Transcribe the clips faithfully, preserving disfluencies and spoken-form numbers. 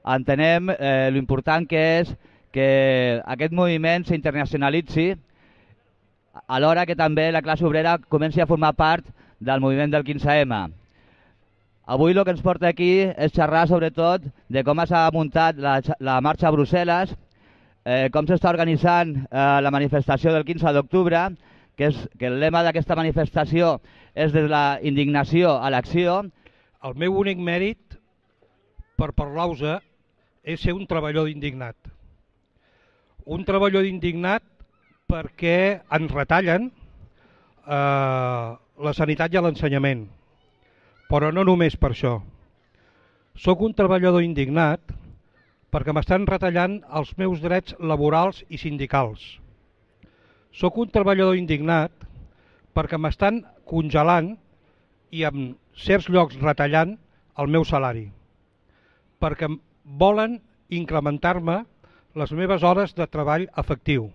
entenem eh, l'important que és que aquest moviment s'internacionalitzi, alhora que també la classe obrera comenci a formar part del moviment del quinze ema. Avui el que ens porta aquí és xerrar sobretot de com s'ha muntat la, la marxa a Brussel·les, eh, com s'està organitzant eh, la manifestació del quinze d'octubre, que, és, que el lema d'aquesta manifestació és des de la indignació a l'acció. El meu únic mèrit per parlar-vos és ser un treballador indignat. Un treballador indignat perquè ens retallen eh, la sanitat i l'ensenyament. Però no només per això. Soc un treballador indignat perquè m'estan retallant els meus drets laborals i sindicals. Soc un treballador indignat perquè m'estan congelant i en certs llocs retallant el meu salari. Perquè volen incrementar-me les meves hores de treball efectiu.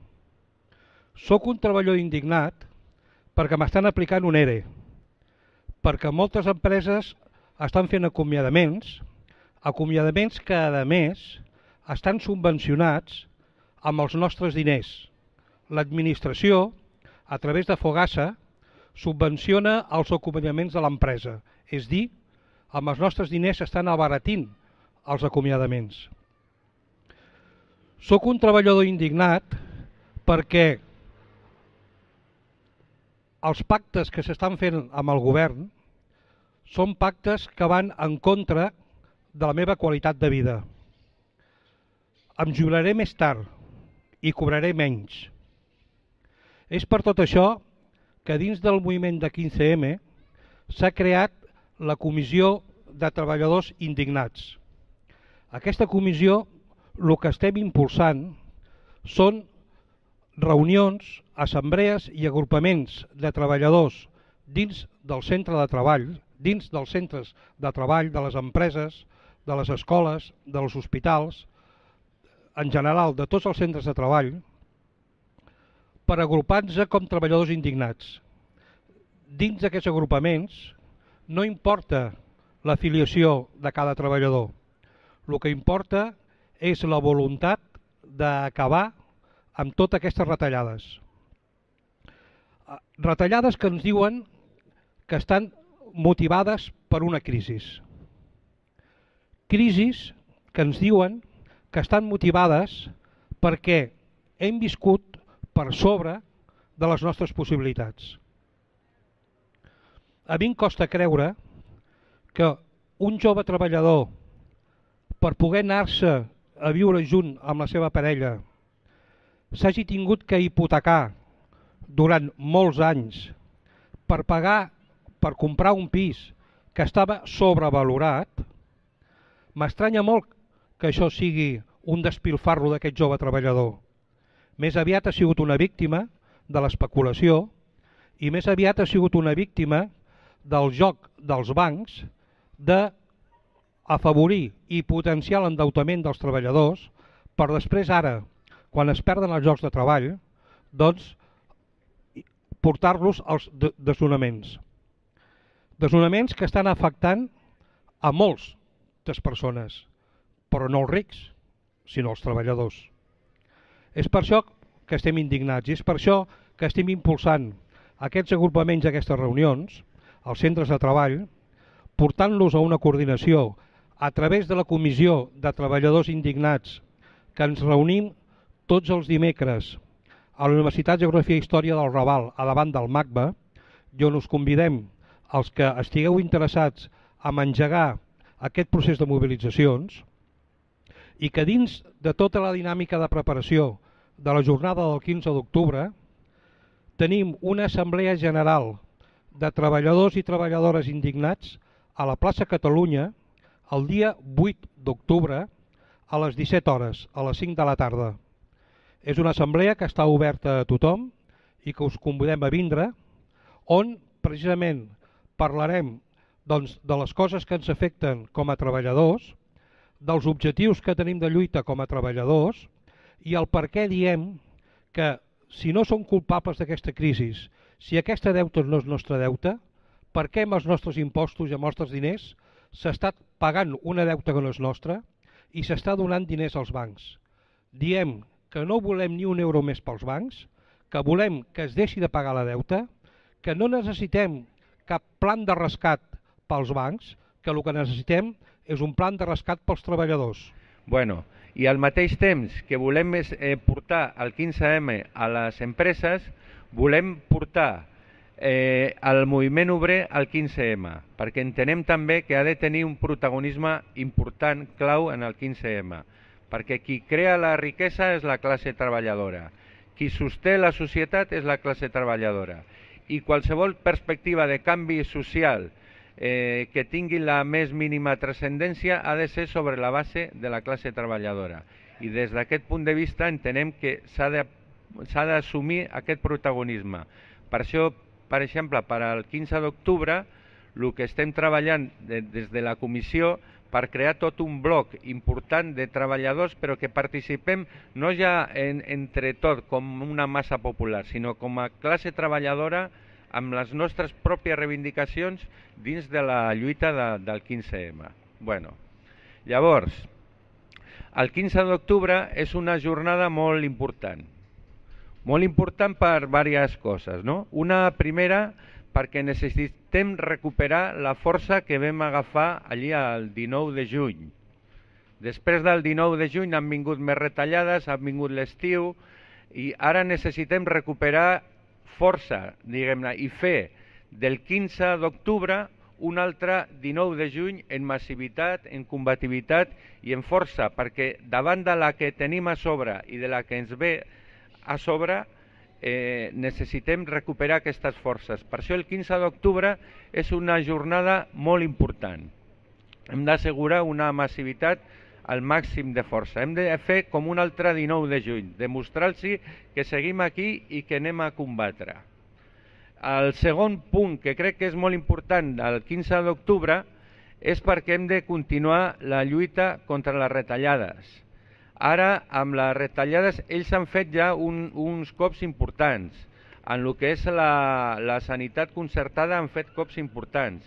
Soc un treballador indignat perquè m'estan aplicant un ERE, perquè moltes empreses estan fent acomiadaments, acomiadaments que, a més, estan subvencionats amb els nostres diners. L'administració, a través de Fogassa, subvenciona els acomiadaments de l'empresa, és dir, amb els nostres diners s'estan abaratint els acomiadaments. Soc un treballador indignat perquè els pactes que s'estan fent amb el govern són pactes que van en contra de la meva qualitat de vida. Em jubilaré més tard i cobraré menys. És per tot això que dins del moviment de quinze ema s'ha creat la Comissió de Treballadors Indignats. Aquesta comissió, el que estem impulsant són reunions, assemblees i agrupaments de treballadors dins del centre de treball, dins dels centres de treball, de les empreses, de les escoles, dels hospitals, en general de tots els centres de treball, per agrupar-nos com treballadors indignats. Dins d'aquests agrupaments no importa l'afiliació de cada treballador. El que importa és la voluntat d'acabar amb totes aquestes retallades. Retallades que ens diuen que estan motivades per una crisi. Crisis que ens diuen que estan motivades perquè hem viscut per sobre de les nostres possibilitats. A mi em costa creure que un jove treballador, per poder anar-se a viure junt amb la seva parella, s'hagi tingut que hipotecar durant molts anys per pagar, per comprar un pis que estava sobrevalorat. M'estranya molt que això sigui un despilfarro d'aquest jove treballador. Més aviat ha sigut una víctima de l'especulació i més aviat ha sigut una víctima del joc dels bancs d'afavorir i potenciar l'endeutament dels treballadors per després ara, quan es perden els llocs de treball, doncs portar-los als desnonaments. Desnonaments que estan afectant a moltes persones, però no els rics, sinó els treballadors. És per això que estem indignats i és per això que estem impulsant aquests agrupaments, aquestes reunions, als centres de treball, portant-los a una coordinació a través de la Comissió de Treballadors Indignats que ens reunim tots els dimecres a la Universitat de Geografia i Història del Raval, a davant del MACBA, i on us convidem els que estigueu interessats en engegar aquest procés de mobilitzacions i que dins de tota la dinàmica de preparació de la jornada del quinze d'octubre tenim una assemblea general de treballadors i treballadores indignats a la plaça Catalunya el dia vuit d'octubre a les disset hores, a les cinc de la tarda. És una assemblea que està oberta a tothom i que us convidem a vindre, on precisament parlarem doncs, de les coses que ens afecten com a treballadors, dels objectius que tenim de lluita com a treballadors i el per què diem que si no som culpables d'aquesta crisi, si aquesta deuta no és nostre deute, per què amb els nostres impostos i amb els nostres diners s'ha estat pagant una deuta que no és nostra i s'està donant diners als bancs. Diem que no volem ni un euro més pels bancs, que volem que es deixi de pagar la deuta, que no necessitem cap plan de rescat pels bancs, que el que necessitem és un plan de rescat pels treballadors. Bueno, i al mateix temps que volem eh, portar el quinze eme a les empreses, volem portar eh, el moviment obrer al quinze eme, perquè entenem també que ha de tenir un protagonisme important, clau en el quinze eme, perquè qui crea la riquesa és la classe treballadora, qui sosté la societat és la classe treballadora, i qualsevol perspectiva de canvi social eh, que tingui la més mínima transcendència ha de ser sobre la base de la classe treballadora. I des d'aquest punt de vista entenem que s'ha de, s'ha d'assumir aquest protagonisme. Per això, per exemple, per al quinze d'octubre, el que estem treballant de, des de la comissió per crear tot un bloc important de treballadors, però que participem no ja en, entre tot com una massa popular, sinó com a classe treballadora amb les nostres pròpies reivindicacions dins de la lluita de, del quinze eme. Bueno, llavors, el quinze d'octubre és una jornada molt important. Molt important per diverses coses, no? Una primera, perquè necessitem recuperar la força que vam agafar allí el dinou de juny. Després del dinou de juny han vingut més retallades, ha vingut l'estiu, i ara necessitem recuperar força, diguem-ne, i fer del quinze d'octubre un altre dinou de juny en massivitat, en combativitat i en força, perquè davant de la que tenim a sobre i de la que ens ve a sobre, eh, necessitem recuperar aquestes forces. Per això el quinze d'octubre és una jornada molt important. Hem d'assegurar una massivitat al màxim de força. Hem de fer com un altre dinou de juny, demostrar-los que seguim aquí i que anem a combatre. El segon punt que crec que és molt important del quinze d'octubre és perquè hem de continuar la lluita contra les retallades. Ara, amb les retallades, ells han fet ja un, uns cops importants. En el que és la, la sanitat concertada han fet cops importants.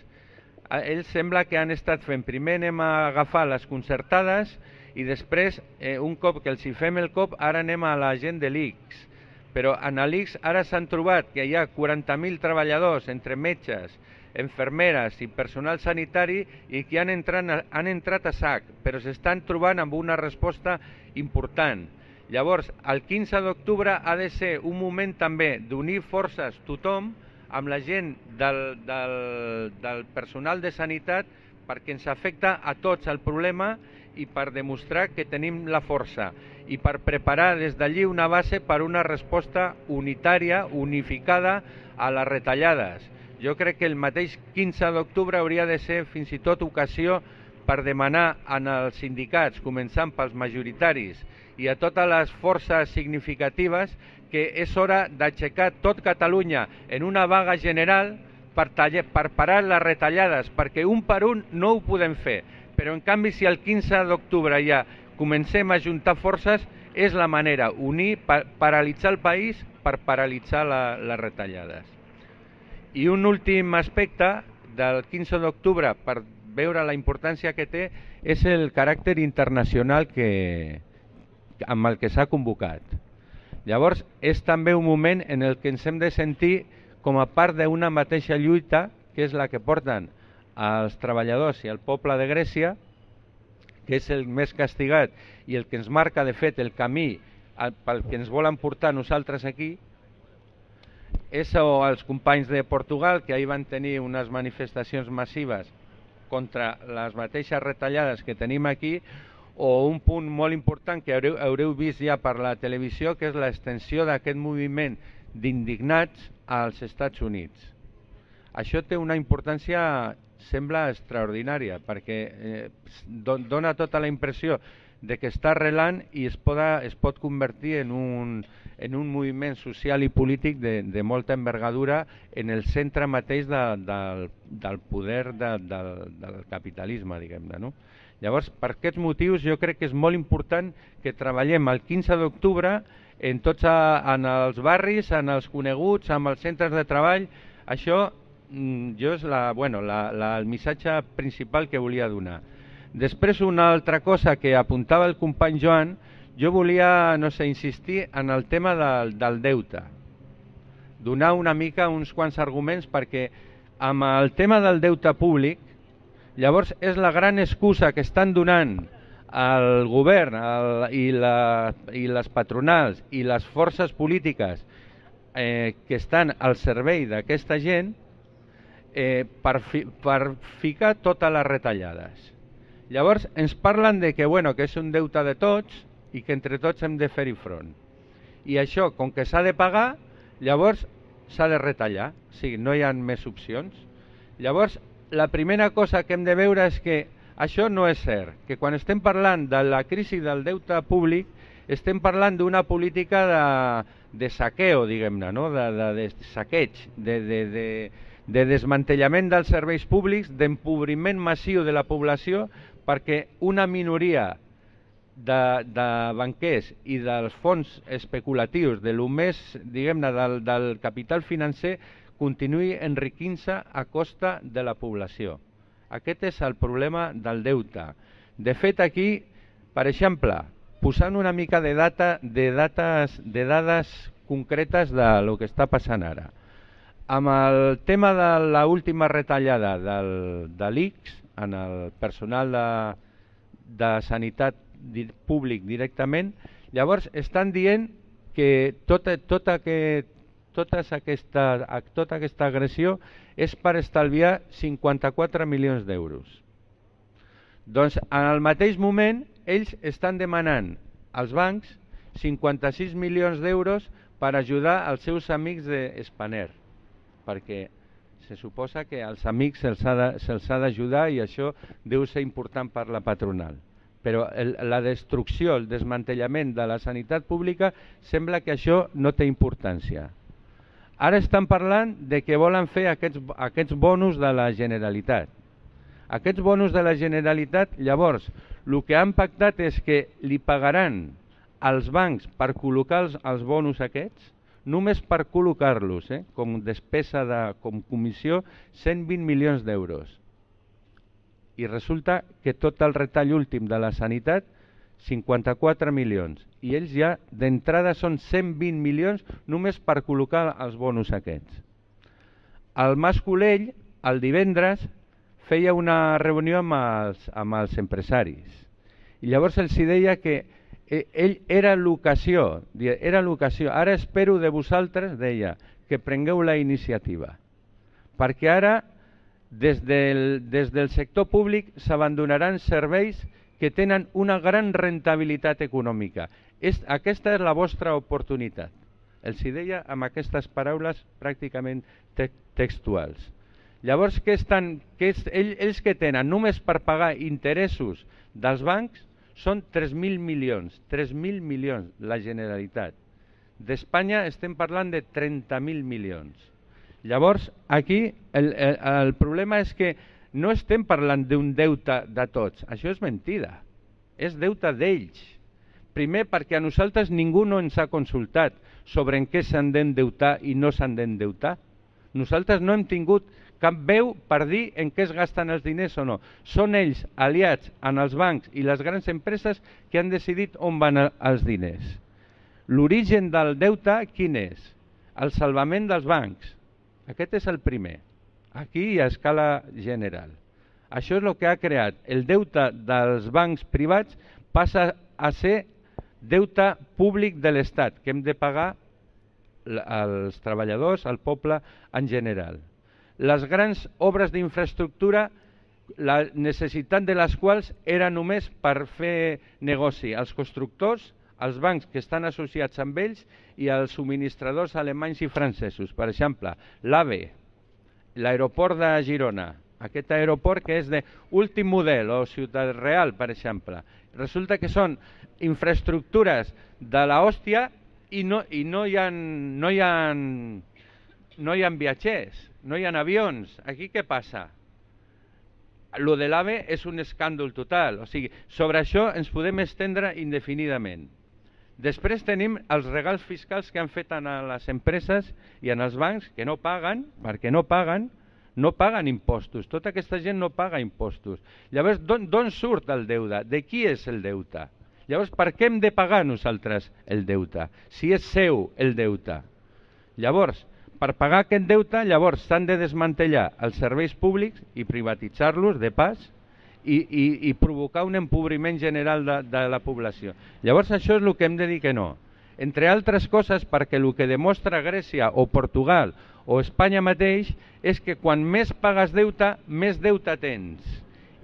Ells sembla que han estat fent, primer anem a agafar les concertades i després, eh, un cop que els hi fem el cop, ara anem a la gent de l'I C S. Però en l'I C S ara s'han trobat que hi ha quaranta mil treballadors entre metges, infermeres i personal sanitari i que han entrat, han entrat a sac, però s'estan trobant amb una resposta important. Llavors, el quinze d'octubre ha de ser un moment també d'unir forces tothom amb la gent del, del, del personal de sanitat perquè ens afecta a tots el problema i per demostrar que tenim la força i per preparar des d'allí una base per una resposta unitària, unificada a les retallades. Jo crec que el mateix quinze d'octubre hauria de ser fins i tot ocasió per demanar en els sindicats, començant pels majoritaris i a totes les forces significatives, que és hora d'aixecar tot Catalunya en una vaga general per, taller, per parar les retallades, perquè un per un no ho podem fer. Però en canvi, si el quinze d'octubre ja comencem a juntar forces, és la manera, unir, pa, paralitzar el país per paralitzar la, les retallades. I un últim aspecte del quinze d'octubre, per veure la importància que té, és el caràcter internacional que, amb el que s'ha convocat. Llavors, és també un moment en el que ens hem de sentir com a part d'una mateixa lluita, que és la que porten els treballadors i el poble de Grècia, que és el més castigat i el que ens marca, de fet, el camí pel que ens volen portar nosaltres aquí, és els companys de Portugal, que ahir van tenir unes manifestacions massives contra les mateixes retallades que tenim aquí, o un punt molt important que haureu, haureu vist ja per la televisió, que és l'extensió d'aquest moviment d'indignats als Estats Units. Això té una importància, sembla, extraordinària, perquè eh, dona tota la impressió de que està arrelant i es, poda, es pot convertir en un, en un moviment social i polític de, de molta envergadura en el centre mateix de, de, del poder de, de, del capitalisme, diguem-ne, no? Llavors, per aquests motius, jo crec que és molt important que treballem el quinze d'octubre en tots a, en els barris, en els coneguts, amb els centres de treball. Això jo és la, bueno, la, la, el missatge principal que volia donar. Després, una altra cosa que apuntava el company Joan, jo volia, no sé, insistir en el tema del, del deute. Donar una mica uns quants arguments perquè amb el tema del deute públic, llavors és la gran excusa que estan donant el govern el, i, la, i les patronals i les forces polítiques eh, que estan al servei d'aquesta gent eh, per, fi, per ficar totes les retallades. Llavors ens parlen de que, bueno, que és un deute de tots i que entre tots hem de fer-hi front. I això, com que s'ha de pagar, llavors s'ha de retallar, o sigui, no hi ha més opcions. Llavors, la primera cosa que hem de veure és que això no és cert, que quan estem parlant de la crisi del deute públic estem parlant d'una política de, de saqueo, diguem-ne, no? de, de, de saqueig, de, de, de, de desmantellament dels serveis públics, d'empobriment massiu de la població perquè una minoria de, de banquers i dels fons especulatius, de lo més, diguem-ne, del, del capital financer, continuï enriquint-se a costa de la població. Aquest és el problema del deute. De fet, aquí, per exemple, posant una mica de, data, de, dates, de dades concretes de lo que està passant ara. Amb el tema de l'última retallada del, de l'I C S en el personal de, de sanitat públic directament, llavors estan dient que tota, tota, que, totes aquesta, tota aquesta agressió és per estalviar cinquanta-quatre milions d'euros. Doncs en el mateix moment ells estan demanant als bancs cinquanta-sis milions d'euros per ajudar els seus amics de Spanair, perquè se suposa que als amics se'ls ha d'ajudar i això deu ser important per la patronal. Però el, la destrucció, el desmantellament de la sanitat pública sembla que això no té importància. Ara estan parlant de que volen fer aquests, aquests bonus de la Generalitat. Aquests bonus de la Generalitat, llavors, el que han pactat és que li pagaran als bancs per col·locar els, els bonus aquests, només per col·locar-los, eh, com despesa, de, com comissió, cent vint milions d'euros. I resulta que tot el retall últim de la sanitat, cinquanta-quatre milions. I ells ja d'entrada són cent vint milions només per col·locar els bonus aquests. El Mas Colell, el divendres, feia una reunió amb els, amb els empresaris. I llavors els deia que ell era l'ocasió, era l'ocasió. Ara espero de vosaltres, deia, que prengueu la iniciativa. Perquè ara, des del, des del sector públic, s'abandonaran serveis que tenen una gran rentabilitat econòmica. És, aquesta és la vostra oportunitat. Els deia amb aquestes paraules pràcticament te textuals. Llavors, què estan, què és, ells, ells que tenen només per pagar interessos dels bancs són tres mil milions, tres mil milions la Generalitat. D'Espanya estem parlant de trenta mil milions. Llavors, aquí el, el, el problema és que no estem parlant d'un deute de tots, això és mentida, és deute d'ells. Primer perquè a nosaltres ningú no ens ha consultat sobre en què s'han d'endeutar i no s'han d'endeutar. Nosaltres no hem tingut cap veu per dir en què es gasten els diners o no. Són ells, aliats en els bancs i les grans empreses, que han decidit on van els diners. L'origen del deute, quin és? El salvament dels bancs. Aquest és el primer, aquí a escala general. Això és el que ha creat. El deute dels bancs privats passa a ser deute públic de l'Estat, que hem de pagar als treballadors, al poble en general. Les grans obres d'infraestructura, la necessitat de les quals era només per fer negoci als constructors, als bancs que estan associats amb ells i als subministradors alemanys i francesos. Per exemple, l'AVE, l'aeroport de Girona, aquest aeroport que és d'últim model, o Ciutat Real, per exemple. Resulta que són infraestructures de l'hòstia i no, i no hi ha, no hi ha, no hi ha viatgers, no hi ha avions. Aquí què passa? Lo de l'AVE és un escàndol total. O sigui, sobre això ens podem estendre indefinidament. Després tenim els regals fiscals que han fet a les empreses i en els bancs que no paguen, perquè no paguen, no paguen impostos, tota aquesta gent no paga impostos. Llavors, d'on surt el deute? De qui és el deute? Llavors, per què hem de pagar nosaltres el deute? Si és seu el deute. Llavors, per pagar aquest deute, llavors s'han de desmantellar els serveis públics i privatitzar-los de pas i, i, i provocar un empobriment general de, de la població. Llavors, això és el que hem de dir que no. Entre altres coses, perquè el que demostra Grècia o Portugal o Espanya mateix és que quan més pagues deute, més deute tens.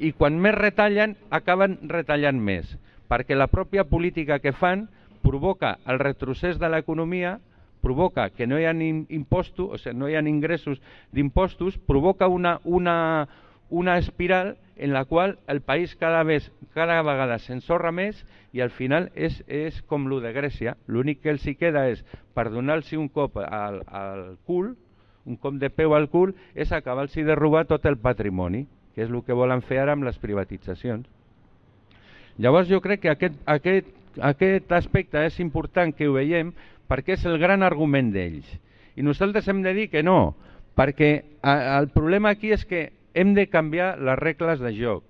I quan més retallen, acaben retallant més. Perquè la pròpia política que fan provoca el retrocés de l'economia, provoca que no hi ha impostos, o sigui, no hi ha ingressos d'impostos, provoca una, una, una espiral en la qual el país cada, vez, cada vegada s'ensorra més i al final és, és com lo de Grècia. L'únic que els hi queda és, per donar-los un cop al, al cul, un cop de peu al cul, és acabar-los de robar tot el patrimoni, que és el que volen fer ara amb les privatitzacions. Llavors jo crec que aquest, aquest, aquest aspecte és important que ho veiem perquè és el gran argument d'ells. I nosaltres hem de dir que no, perquè el problema aquí és que hem de canviar les regles de joc.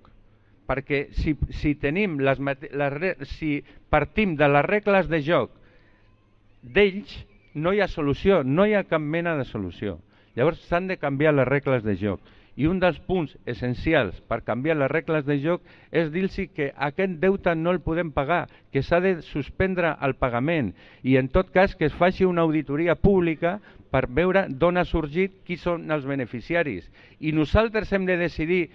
Perquè si, si, tenim les, les, si partim de les regles de joc d'ells, no hi ha solució, no hi ha cap mena de solució. Llavors s'han de canviar les regles de joc. I un dels punts essencials per canviar les regles de joc és dir-los que aquest deute no el podem pagar, que s'ha de suspendre el pagament i en tot cas que es faci una auditoria pública per veure d'on ha sorgit, qui són els beneficiaris. I nosaltres hem de decidir,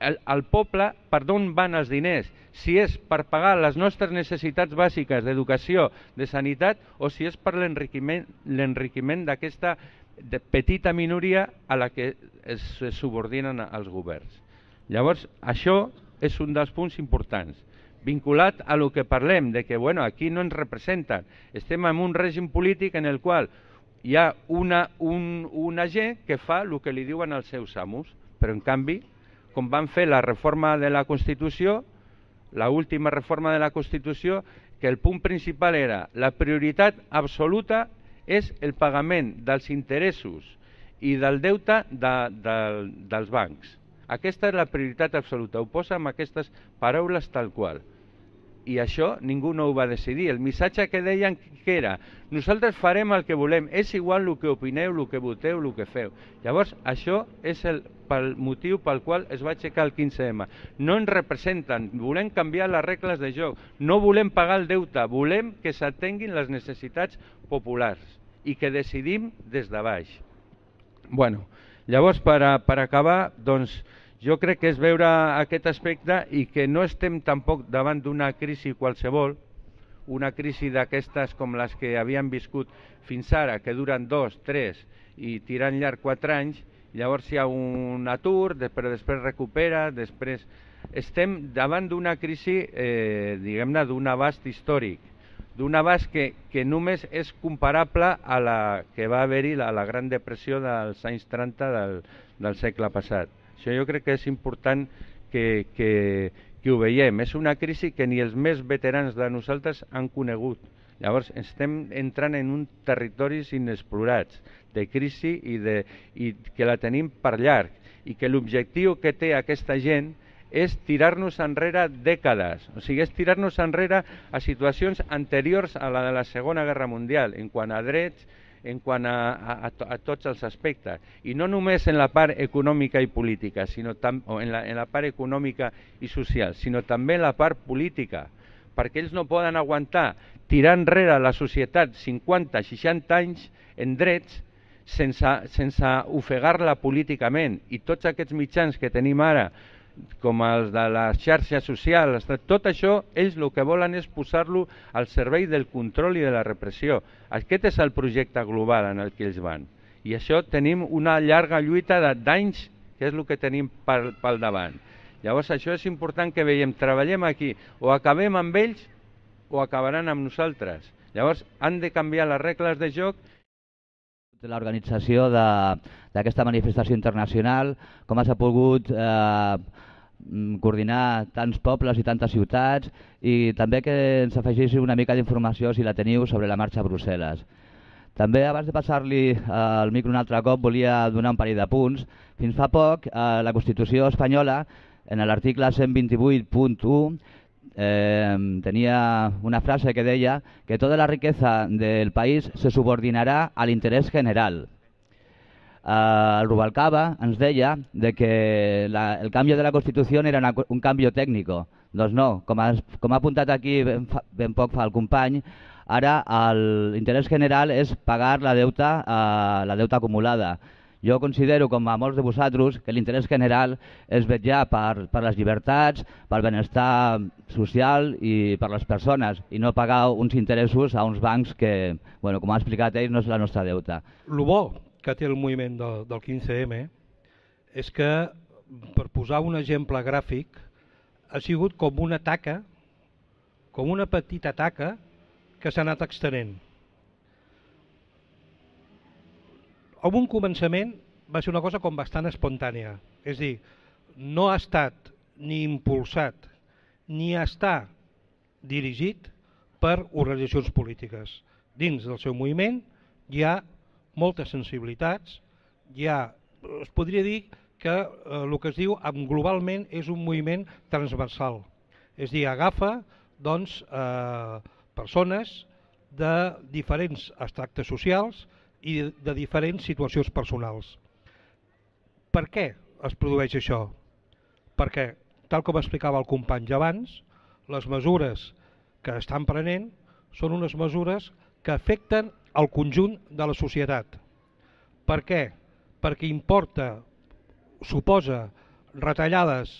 el, el poble, per d'on van els diners, si és per pagar les nostres necessitats bàsiques d'educació, de sanitat, o si és per l'enriquiment l'enriquiment d'aquesta de petita minoria a la que es subordinen als governs. Llavors, això és un dels punts importants, vinculat a lo que parlem, de que bueno, aquí no ens representen. Estem en un règim polític en el qual hi ha una, un, una gent que fa el que li diuen els seus amos, però en canvi, com van fer la reforma de la Constitució, la última reforma de la Constitució, que el punt principal era la prioritat absoluta és el pagament dels interessos i del deute de, de, dels bancs. Aquesta és la prioritat absoluta, ho posa amb aquestes paraules tal qual. I això ningú no ho va decidir. El missatge que deien que era nosaltres farem el que volem, és igual el que opineu, el que voteu, el que feu. Llavors, això és el pel motiu pel qual es va aixecar el quinze ema. No ens representen, volem canviar les regles de joc, no volem pagar el deute, volem que s'atenguin les necessitats populars i que decidim des de baix. Bueno, llavors, per, a, per acabar, doncs, jo crec que és veure aquest aspecte i que no estem tampoc davant d'una crisi qualsevol, una crisi d'aquestes com les que havien viscut fins ara, que duren dos, tres i tirant llarg quatre anys, llavors hi ha un atur, però després recupera, després estem davant d'una crisi, eh, diguem-ne, d'un abast històric, d'un abast que, que només és comparable a la que va haver-hi a la, la Gran Depressió dels anys trenta del, del segle passat. Això jo crec que és important que, que, que ho veiem. És una crisi que ni els més veterans de nosaltres han conegut. Llavors estem entrant en un territoris inexplorats de crisi i, de, i que la tenim per llarg i que l'objectiu que té aquesta gent és tirar-nos enrere dècades, o sigui, és tirar-nos enrere a situacions anteriors a la de la Segona Guerra Mundial, en quant a drets, en quant a, a, a tots els aspectes. I no només en la part econòmica i política, sinó tam, o en, la, en la part econòmica i social, sinó també en la part política, perquè ells no poden aguantar tirar enrere la societat cinquanta seixanta anys en drets sense, sense ofegar-la políticament. I tots aquests mitjans que tenim ara, com els de les xarxes socials, tot això, ells el que volen és posar-lo al servei del control i de la repressió. Aquest és el projecte global en el que ells van. I això tenim una llarga lluita d'anys, que és el que tenim pel, pel davant. Llavors això és important que veiem, treballem aquí, o acabem amb ells o acabaran amb nosaltres. Llavors han de canviar les regles de joc. L'organització d'aquesta manifestació internacional, com s'ha pogut eh, coordinar tants pobles i tantes ciutats, i també que ens afegeixi una mica d'informació, si la teniu, sobre la marxa a Brussel·les. També, abans de passar-li el micro un altre cop, volia donar un parell de punts. Fins fa poc, eh, la Constitució espanyola, en l'article cent vint-i-vuit punt u, eh, tenia una frase que deia que tota la riqueza del país se subordinarà a l'interès general. Uh, el Rubalcaba ens deia de que la, el canvi de la Constitució era una, un canvi tècnic. Doncs no, com ha, com ha apuntat aquí ben, fa, ben poc fa el company, ara l'interès general és pagar la deuta, uh, la deuta acumulada. Jo considero, com a molts de vosaltres, que l'interès general és vetllar per, per les llibertats, pel benestar social i per les persones, i no pagar uns interessos a uns bancs que, bueno, com ha explicat ell, no és la nostra deuta. Lo bo que té el moviment de, del quinze eme és que, per posar un exemple gràfic, ha sigut com una taca, com una petita taca que s'ha anat extenent. En un començament va ser una cosa com bastant espontània, és a dir, no ha estat ni impulsat ni està dirigit per organitzacions polítiques. Dins del seu moviment hi ha moltes sensibilitats, hi ha, es podria dir que eh, el que es diu globalment és un moviment transversal, és a dir, agafa doncs, eh, persones de diferents extractes socials i de, de diferents situacions personals. Per què es produeix això? Perquè, tal com explicava el company abans, les mesures que estan prenent són unes mesures que afecten al conjunt de la societat. Per què? Perquè importa, suposa retallades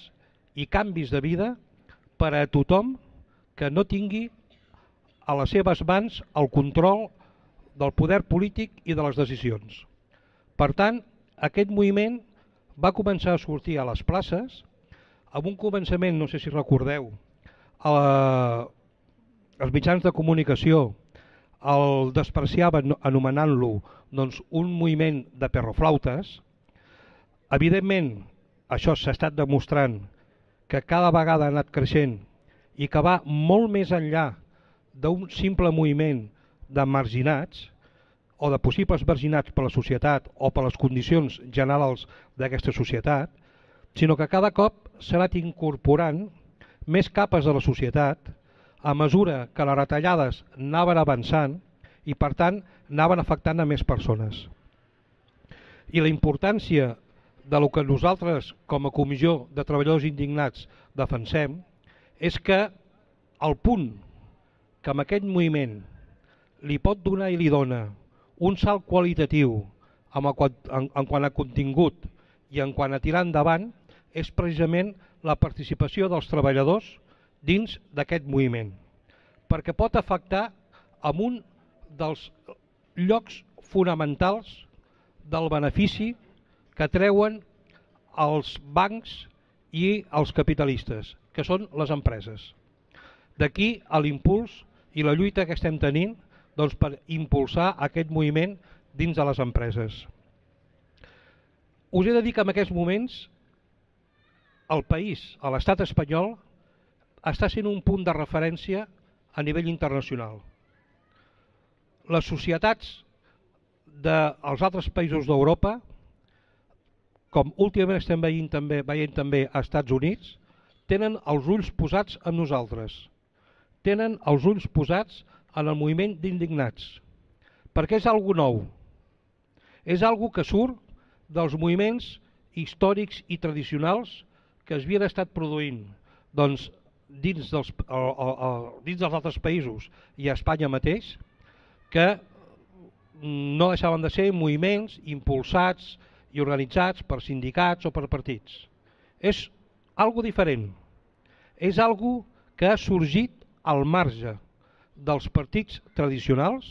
i canvis de vida per a tothom que no tingui a les seves mans el control del poder polític i de les decisions. Per tant, aquest moviment va començar a sortir a les places, amb un començament, no sé si recordeu, a la, els mitjans de comunicació el despreciaven anomenant-lo doncs, un moviment de perroflautes. Evidentment, això s'ha estat demostrant que cada vegada ha anat creixent i que va molt més enllà d'un simple moviment de marginats o de possibles marginats per la societat o per les condicions generals d'aquesta societat, sinó que cada cop s'ha anat incorporant més capes de la societat a mesura que les retallades anaven avançant i per tant anaven afectant a més persones. I la importància de lo que nosaltres com a Comissió de Treballadors Indignats defensem és que el punt que amb aquest moviment li pot donar i li dona un salt qualitatiu en, en, en quant a contingut i en quant a tirar endavant és precisament la participació dels treballadors dins d'aquest moviment, perquè pot afectar en un dels llocs fonamentals del benefici que treuen els bancs i els capitalistes, que són les empreses. D'aquí l'impuls i la lluita que estem tenint doncs, per impulsar aquest moviment dins de les empreses. Us he de dir que en aquests moments el país, l'estat espanyol, està sent un punt de referència a nivell internacional. Les societats dels altres països d'Europa, com últimament estem veient també, veient també als Estats Units, tenen els ulls posats en nosaltres, tenen els ulls posats en el moviment d'indignats, perquè és algo nou, és algo que surt dels moviments històrics i tradicionals que es havien estat produint doncs, dins, dels, o, o, o, dins dels altres països i a Espanya mateix, que no deixaven de ser moviments impulsats i organitzats per sindicats o per partits. És algo diferent, és algo que ha sorgit al marge dels partits tradicionals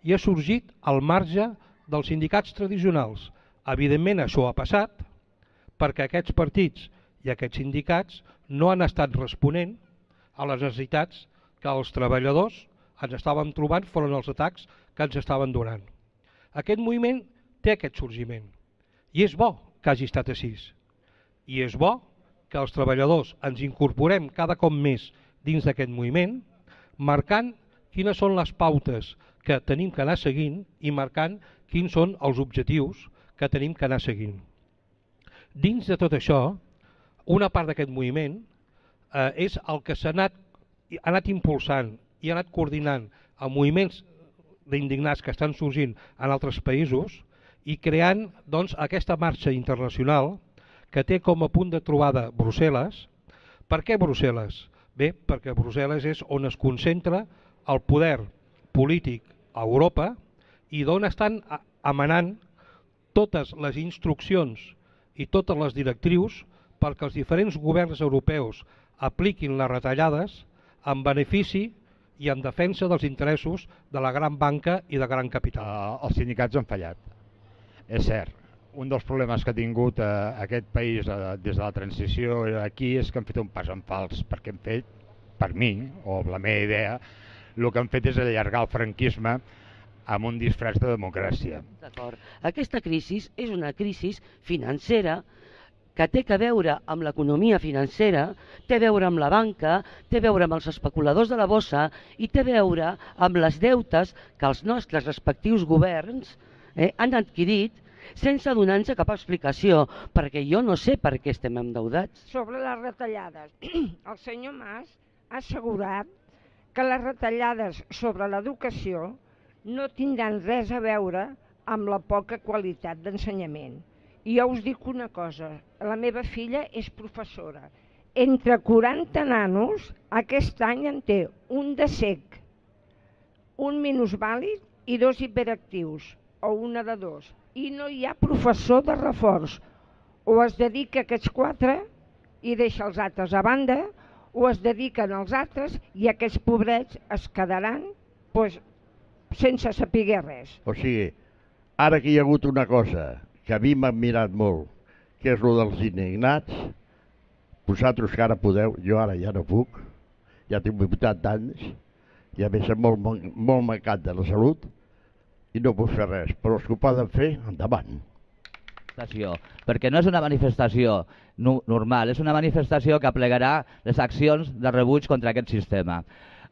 i ha sorgit al marge dels sindicats tradicionals. Evidentment això ha passat perquè aquests partits i aquests sindicats no han estat responent a les necessitats que els treballadors ens estàvem trobant foren els atacs que ens estaven donant. Aquest moviment té aquest sorgiment i és bo que hagi estat així. I és bo que els treballadors ens incorporem cada cop més dins d'aquest moviment, marcant quines són les pautes que tenim que anar seguint i marcant quins són els objectius que tenim que anar seguint. Dins de tot això, una part d'aquest moviment eh, és el que s'ha anat, ha anat impulsant i ha anat coordinant amb moviments d'indignats que estan sorgint en altres països i creant doncs, aquesta marxa internacional que té com a punt de trobada Brussel·les. Per què Brussel·les? Bé, perquè Brussel·les és on es concentra el poder polític a Europa i d'on estan emanant totes les instruccions i totes les directrius perquè els diferents governs europeus apliquin les retallades en benefici i en defensa dels interessos de la gran banca i de gran capital. Uh, els sindicats han fallat, és cert. Un dels problemes que ha tingut uh, aquest país uh, des de la transició aquí és que han fet un pas en fals, perquè han fet, per mi, o la meva idea, el que han fet és allargar el franquisme amb un disfraç de democràcia. D'acord. Aquesta crisi és una crisi financera que té a veure amb l'economia financera, té a veure amb la banca, té a veure amb els especuladors de la bossa i té a veure amb les deutes que els nostres respectius governs eh, han adquirit sense donar-nos cap explicació, perquè jo no sé per què estem endeudats. Sobre les retallades, el senyor Mas ha assegurat que les retallades sobre l'educació no tindran res a veure amb la poca qualitat d'ensenyament. I jo us dic una cosa, la meva filla és professora. Entre quaranta nanos, aquest any en té un de sec, un minusvàlid i dos hiperactius, o una de dos. I no hi ha professor de reforç. O es dedica a aquests quatre i deixa els altres a banda, o es dediquen als altres i aquests pobrets es quedaran pues, sense saber res. O sigui, ara que hi ha hagut una cosa que a mi m'ha admirat molt, que és el dels indignats, vosaltres que ara podeu, jo ara ja no puc, ja tinc vuitanta anys, i a més som molt, molt mancat de la salut, i no puc fer res, però els que ho poden fer, endavant. Perquè no és una manifestació normal, és una manifestació que aplegarà les accions de rebuig contra aquest sistema.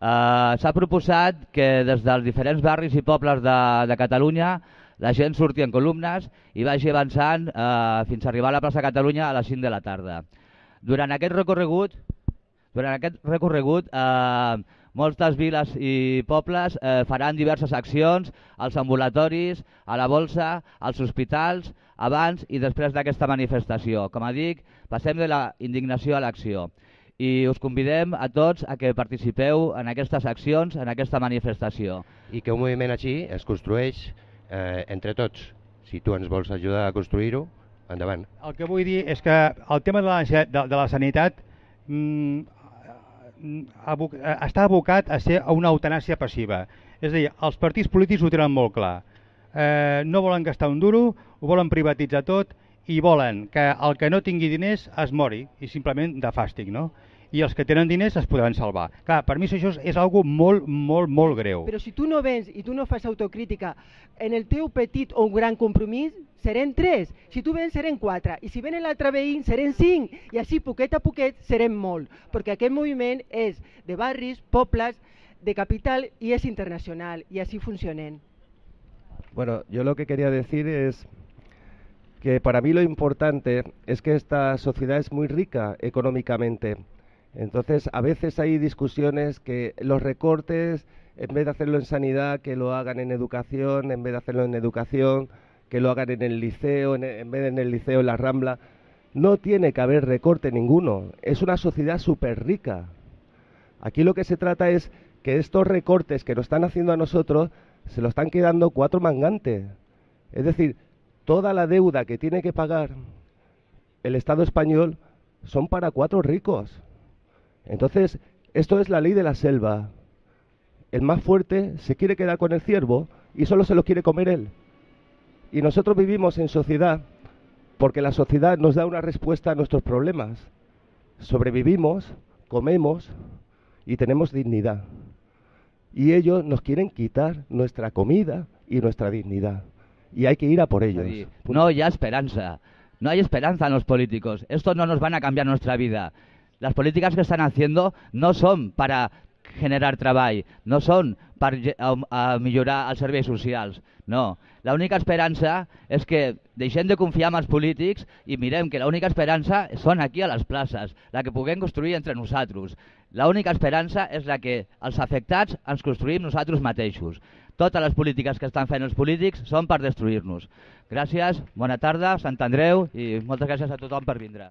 Uh, S'ha proposat que des dels diferents barris i pobles de, de Catalunya la gent surti en columnes i vagi avançant uh, fins a arribar a la plaça Catalunya a les cinc de la tarda. Durant aquest recorregut, durant aquest recorregut uh, moltes viles i pobles eh, faran diverses accions als ambulatoris, a la bolsa, als hospitals, abans i després d'aquesta manifestació. Com a dic, passem de la indignació a l'acció. I us convidem a tots a que participeu en aquestes accions, en aquesta manifestació. I que un moviment així es construeix eh, entre tots. Si tu ens vols ajudar a construir-ho, endavant. El que vull dir és que el tema de la, de, de la sanitat mm, Aboc està abocat a ser una eutanàsia passiva. És a dir, els partits polítics ho tenen molt clar. Eh, no volen gastar un duro, ho volen privatitzar tot i volen que el que no tingui diners es mori, i simplement de fàstic, no? I els que tenen diners es podran salvar. Clar, per mi això és algo molt, molt, molt greu. Però si tu no vens i tu no fas autocrítica, en el teu petit o gran compromís serem tres, si tu vens serem quatre, i si ven l'altre veí serem cinc, i així poquet a poquet serem molt, perquè aquest moviment és de barris, pobles, de capital i és internacional, i així funcionen. Bueno, yo lo que quería decir es que para mí lo importante es que esta sociedad es muy rica económicamente. Entonces, a veces hay discusiones que los recortes, en vez de hacerlo en sanidad, que lo hagan en educación, en vez de hacerlo en educación, que lo hagan en el liceo, en, en vez de en el liceo en la Rambla. No tiene que haber recorte ninguno. Es una sociedad súper rica. Aquí lo que se trata es que estos recortes que nos están haciendo a nosotros se lo están quedando cuatro mangantes. Es decir, toda la deuda que tiene que pagar el Estado español son para cuatro ricos. Entonces, esto es la ley de la selva. El más fuerte se quiere quedar con el ciervo y solo se lo quiere comer él. Y nosotros vivimos en sociedad porque la sociedad nos da una respuesta a nuestros problemas. Sobrevivimos, comemos y tenemos dignidad. Y ellos nos quieren quitar nuestra comida y nuestra dignidad. Y hay que ir a por ellos. Sí, no hay esperanza. No hay esperanza en los políticos. Estos no nos van a cambiar nuestra vida. Las políticas que están haciendo no son para generar treball, no són per a, a millorar els serveis socials, no. L'única esperança és que deixem de confiar en els polítics i mirem que l'única esperança són aquí a les places, la que puguem construir entre nosaltres. L'única esperança és la que els afectats ens construïm nosaltres mateixos. Totes les polítiques que estan fent els polítics són per destruir-nos. Gràcies, bona tarda, Sant Andreu i moltes gràcies a tothom per vindre.